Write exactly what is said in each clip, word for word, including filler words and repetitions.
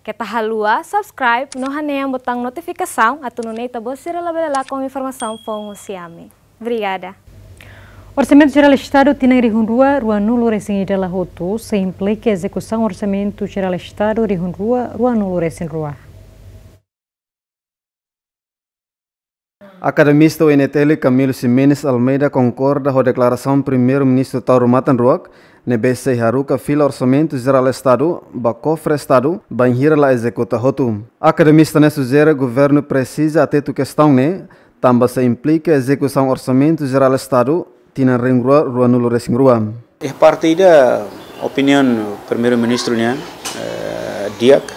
Keta haluha subscribe no hanehan botaun notifikasaun atu nune'e ita-boot sira labele lakon informasaun foun husi ami. Obrigada. Orsamentu Jerál Estadu tinan rihun rua ruanulu-resin-ida la hotu, sei implika ezekusaun Orsamentu Jerál Estadu rihun rua ruanulu-resin-rua. Akademista U N T L Camilo Ximenes Almeida konkorda ho deklarasaun Primeiru-Ministru Taur Matan Ruak, ne'ebé sei haruka fila Orsamentu Jerál Estadu ba kofre Estadu bainhira la ezekuta hotu. Akademista ne'e sujere governu presiza atentu kestaun ne'e, tanba sei implika ezekusaun Orsamentu Jerál Estadu tinan rihun rua ruanulu-resin-rua. Iha parte ida opiniaun Primeiru-Ministru nian, eh, di'ak,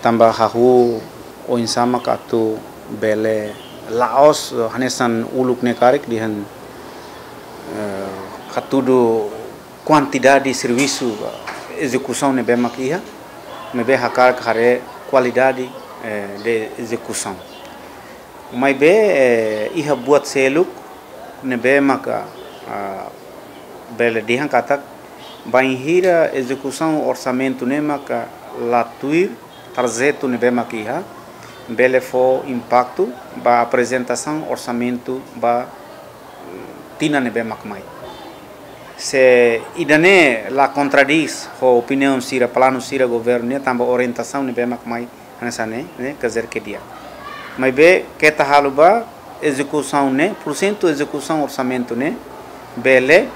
tanba hahú oinsá mak atu bele la'ós, eh, hanesan uluk ne'e karik dehan, eh, hatudu kuantidade servisu, eh, ezekusaun ne'ebé mak iha, maibé hakarak haree kualidade, eh, de ezekusaun. Maibé, eh, iha buat seluk ne'ebé maka, ah, bele dehan katak bainhira ezekusaun orsamentu ne'e maka la tuir tarjetu ne'ebé maka iha, bele fó impaktu ba aprezentasaun orsamentu ba, mm, tinan ne'ebé mak mai. Se ida-ne'e la kontradís ho opiniaun sira, planu sira governu nian, tanba orientasaun ne'ebé mak mai hanesan ne'e, ne'e, quer dizer que di'ak. Maibé keta haluha ba ezekusaun ne'e, porsentu ezekusaun orsamentu ne'e bele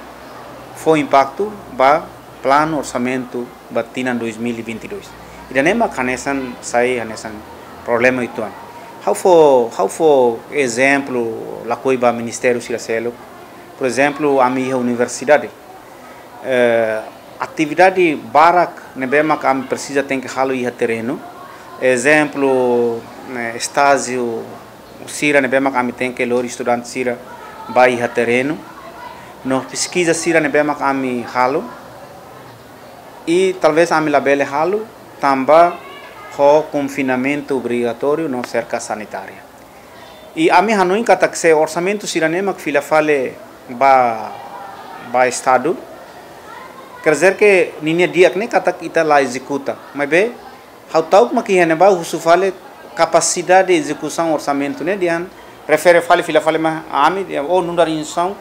fó impaktu ba planu orsamentu ba tinan dois mil e vinte e dois. Ida-ne'e mak hanesan sai hanesan problema uitoan. Ha'u fó, ha'u fó ezemplu, lakohi ba ministériu sira seluk. Porezemplu, ami iha universidade, eh, atividade barak ne'ebé mak ami presiza tenke halo iha terrenu. Ezemplu, eh, estájiu sira ne'ebé mak ami tenke lori estudante sira ba iha terrenu. No peskiza sira ne'ebé mak ami halo. I talvés ami labele halo tanba ho konfinamentu obrigatóriu no serka sanitária. I ami hanoin katak se orsamentu sira-ne'e mak fila fali ba, ba Estadu, quer dizer que ninia di'ak ne'e katak ita la ezekuta. Maibé, ha'u ta'uk mak iha ne'ebá husu fali kapasidade ezekusaun orsamentu ne'e dehan refere fali fila fali mai ami, dehan, oh, nu'udar instituisaun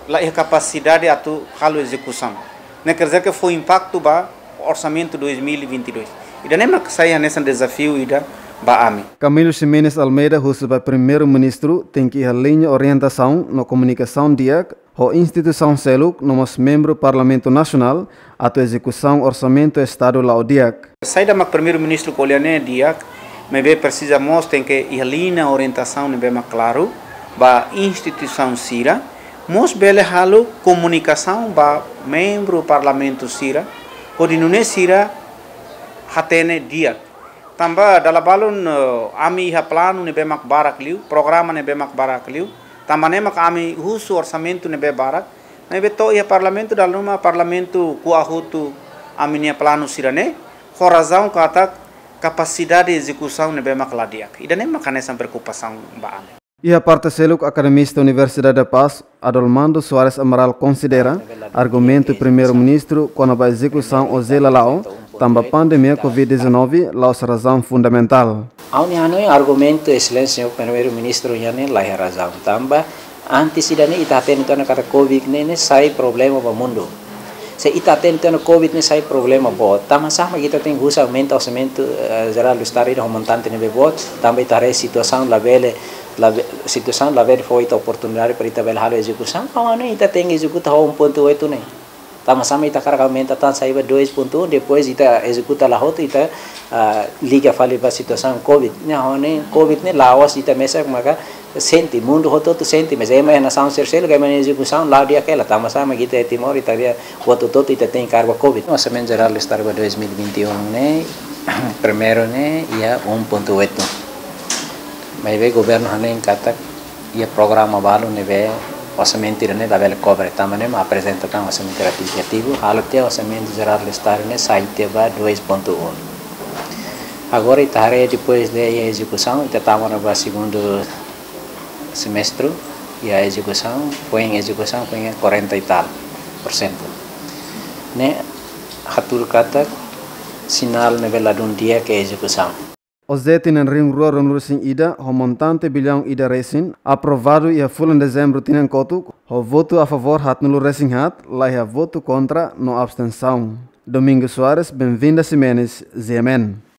la iha kapasidade atu halo ezekusaun. Ne'e quer dizer que fó impaktu ba orsamentu dois mil e vinte e dois. Ida-ne'e mak sai hanesan dezafiu ida ba ami. Camilo Ximenes Almeida husu ba Primeiru-Ministru tenke iha liña orientasaun no komunikasaun di'ak ho instituisaun seluk no mós membru Parlamentu Nasionál atu ezekusaun orsamentu Estadu la'o di'ak. Saida mak Primeiru-Ministru ko'alia ne'e di'ak, maibé presiza mós tenke iha liña orientasaun ne'ebé mak klaru ba instituisaun sira, mós bele halo komunikasaun ba membru Parlamentu sira, hodi nune'e sira hatene di'ak. Tanba dala balun, eh, ami iha planu ne'ebé mak barak liu, programa ne'ebé mak barak liu, tanba ne'e mak ami husu orsamentu ne'ebé barak, maibé to'o iha Parlamentu dala ruma Parlamentu ko'a hotu ami-nia planu sira-ne'e, ho razaun katak kapasidade ezekusaun ne'ebé mak la di'ak. Ida-ne'e mak hanesan preokupasaun ba ami. Iha parte seluk, akademista Universidade da Paz, Adolmando Soares Amaral konsidera argumentu Primeiru-Ministru kona-ba ezekusaun oje la la'o, tanba pandemia covid dezanove, la'ós razaun fundamentál. Ha'u-nia hanoin argumentu Exelénsia Señór Primeiru-Ministru nian ne'e la iha razaun tanba antes ida-ne'e ita hatene tiha ona katak covid ne'e, ne'e sai problema ba mundu. Se ita hatene tiha ona covid ne'e sai problema boot, tanbasá mak ita tenke husu aumenta orsamentu, eh, jerál do Estadu ida ho montante ne'ebé boot, tanba ita haree situasaun labele, labe-, situasaun labele fó ita oportunidade para ita bele halo ezekusaun, ha'u hanoin ita tenke ezekuta ho um ponto oito ne'e. Tanbasá mak ita hakarak aumenta tan sai ba dois ponto um, depois ita ezekuta la hotu, ita, ah, liga fali ba situasaun covid. Ne'e ha'u hanoin covid ne'e la'ós ita mesak maka sente, mundu hotu-hotu sente, mas ema iha nasaun sira seluk, ema nia ezekusaun la'o di'ak hela, tanbasá mak ita iha Timor, ita lia hotu-hotu ita tenke kaer ba covid. Orsamentu Jerál do Estadu ba dois mil e vinte e um ne'e, primeiru ne'e, iha um ponto oito. Maibé governu hanoin katak iha programa balu ne'ebé orsamentu ida-ne'e labele kobre, tanba ne'e mak aprezenta tan orsamentu retivizativu, halo tiha orsamentu jerál do Estadu ne'e sai tiha ba dois ponto um. Agora ita haree depois de iha ezekusaun, ita tama ona ba segundu semestre, iha ezekusaun, foin ezekusaun, foin quarenta e tal por cento. Ne'e hatudu katak Sinál ne'ebé ladún di'ak iha ezekusaun. Ozeti na'in rihun rua ruanulu-resin-ida ho montante biliaun ida resin, aprovadu iha fulan Dezembru tinan kotuk, ho votu a favór haatnulu-resin-haat, laiha votu kontra no abstensaun. Domingos Soares, Benvinda Ximenes, G M N.